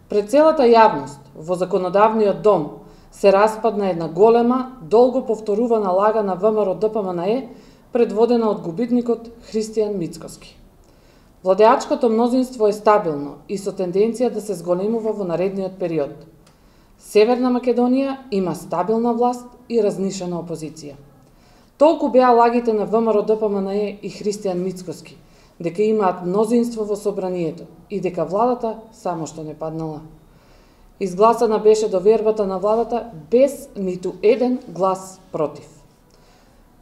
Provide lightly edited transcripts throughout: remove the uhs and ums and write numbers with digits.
Пред целата јавност во законодавниот дом се распадна една голема, долго повторувана лага на ВМРО-ДПМНЕ, предводена од губитникот Христијан Мицкоски. Владеачкото мнозинство е стабилно и со тенденција да се зголемува во наредниот период. Северна Македонија има стабилна власт и разнишена опозиција. Толку беа лагите на ВМРО-ДПМНЕ и Христијан Мицкоски, дека имаат мнозинство во собранието и дека владата само што не паднала. Изгласана беше довербата на владата без ниту еден глас против.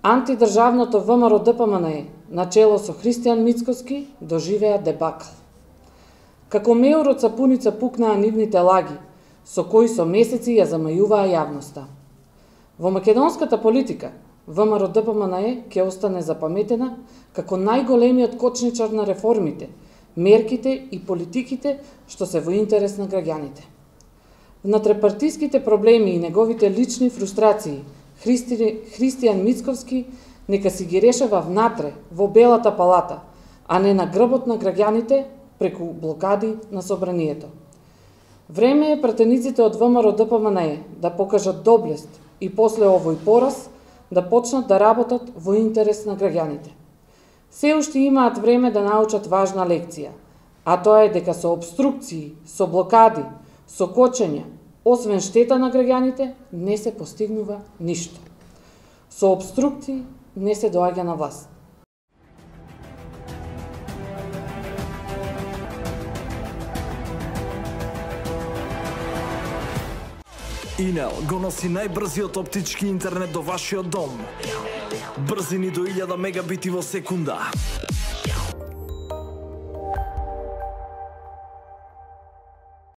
Антидржавното ВМРО-ДПМНЕ, начело со Христијан Мицкоски, доживеа дебакл. Како меур од сапуница пукнаа нивните лаги, со кои со месеци ја замајуваа јавноста. Во македонската политика, ВМРО-ДПМНЕ ќе остане запаметена како најголемиот кочничар на реформите, мерките и политиките што се во интерес на граѓаните. Внатрепартиските проблеми и неговите лични фрустрации Христијан Мицкоски нека си ги решава внатре, во Белата палата, а не на грбот на граѓаните преку блокади на собранието. Време е пратениците од ВМРО-ДПМНЕ да покажат доблест и после овој пораз да почнат да работат во интерес на граѓаните. Се уште имаат време да научат важна лекција, а тоа е дека со обструкции, со блокади, со кочења, освен штета на граѓаните, не се постигнува ништо. Со обструкции не се доаѓа на власт. Инел го носи најбрзиот оптички интернет до вашиот дом. Брзини до 1000 мегабити во секунда.